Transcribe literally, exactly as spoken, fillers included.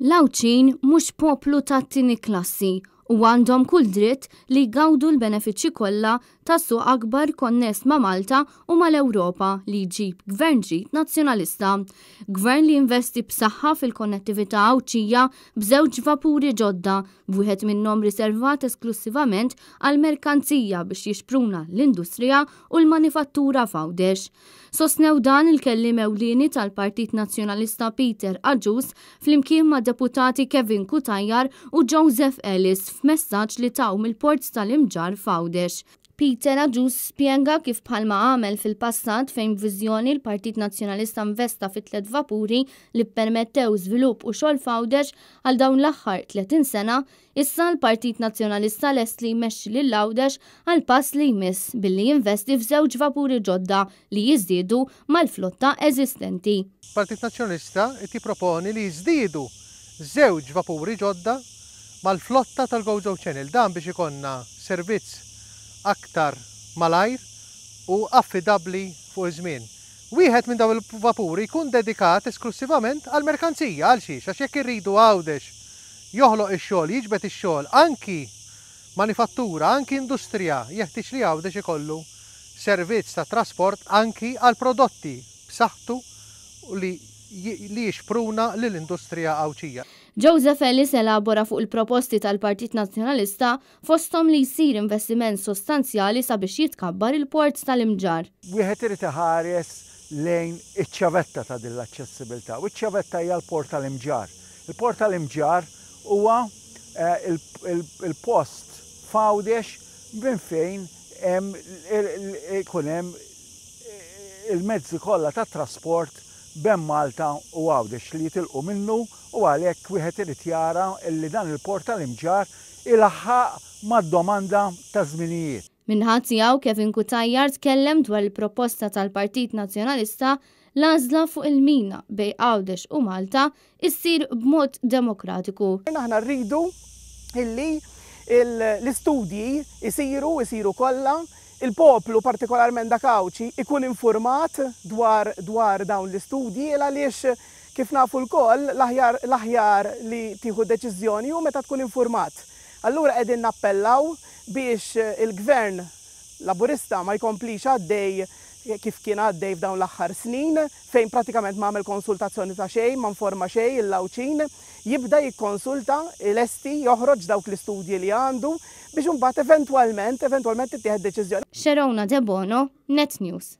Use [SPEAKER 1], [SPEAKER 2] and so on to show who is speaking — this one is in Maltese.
[SPEAKER 1] L-Għawdxin mhux poplu tat-tieni klassi u għandhom kull dritt li jgawdu l-benefiċċji kollha ta' suq akbar konness ma' Malta u mal-Ewropa li jġib gvern ġdid Nazzjonalista. Gvern li jinvesti b'saħħa fil-konnettività Għawdxija b'żewġ vapuri ġodda, b'wieħed minnhom riservat esklussivament għal merkanzija biex jixpruna l-industrija u l-manifattura f'Għawdex. Sostnew dan il-kelliem ewlieni tal-Partit Nazzjonalista Peter Agius flimkien ma' deputati Kevin Cutajar u Joseph Ellis f'messaġġ li taw mill-Port tal-Imġarr f'Għawdex. Peter Agius spjega kif bħalma għamel fil-passat fejn b'viżjoni l-Partit Nazzjonalista investa fi tliet vapuri li ppermettew żvilupp u xogħol f'Għawdex għal dawn l-aħħar tletin sena, issa l-Partit Nazzjonalista lest li jmexxi lil Għawdex għal pass li jmiss billi jinvesti f'żewġ vapuri ġodda li jiżdiedu mal-flotta eżistenti.
[SPEAKER 2] Partit Nazzjonalista qed jipproponi li jiżdiedu żewġ vapuri ġodda mal-flotta tal-Gozo Channel, dan biex ikollna servizz aktar malajr u affidabbli fuq iż-żmien. Wieħed minn dawn il-vapuri jkun dedikat esklussivament għal merkanzija. Għal xiex? Għax jekk irridu Għawdex joħloq ix-xogħol, jiġbed ix-xogħol, anki manifattura, anki industrija, jeħtieġ li Għawdex ikollu servizz ta' trasport anki għal prodotti b'saħħtu li li jixpruna lill-industrija Għawdxija.
[SPEAKER 1] Joseph Ellis elabora fuq il-proposti tal-Partit Nazzjonalista, fosthom li jsir investiment sostanzjali sabiex jitkabbar il-Port tal-Imġarr.
[SPEAKER 3] Wieħed irid iħares lejn iċ-ċavetta ta' din l-aċċessibilità, u ċ-ċavetta hija l-Port tal-Imġarr. Il-Port tal-Imġarr huwa il-post f'Għawdex minn fejn ikun hemm il-mezzi kollha tat-trasport bejn Malta u Għawdex li jitilqu minnu, u għalhekk wieħed irid jara li dan il-Port tal-Imġarr ilaħħaq mad-domanda ta' żminijiet.
[SPEAKER 1] Min-naħa tiegħu, Kevin Cutajar tkellem dwar il-proposta tal-Partit Nazzjonalista l-għażla fuq il-mina bejn Għawdex u Malta issir b'mod demokratiku.
[SPEAKER 4] Aħna rridu illi l-istudji isiru, isiru kollha, il-poplu, partikolarment dak Għawdxi, ikun informat dwar, dwar dawn l-istudji, għaliex kif nafu lkoll l-aħjar li tieħu deċiżjoni u meta tkun informat. Allura qegħdin nappellaw biex il-gvern Laburista ma jkomplix għaddej kif kien għaddej f'dawn l-aħħar snin, fejn pratikament ma għamel konsultazzjoni ta' xejn, ma informa xejn il-Għawdxin, jibda jikkonsulta, ilesti, joħroġ dawk l-istudji li għandu biex imbagħad eventwalment, eventwalment tittieħed deċiżjoni.
[SPEAKER 1] Sherona Debono, Net News.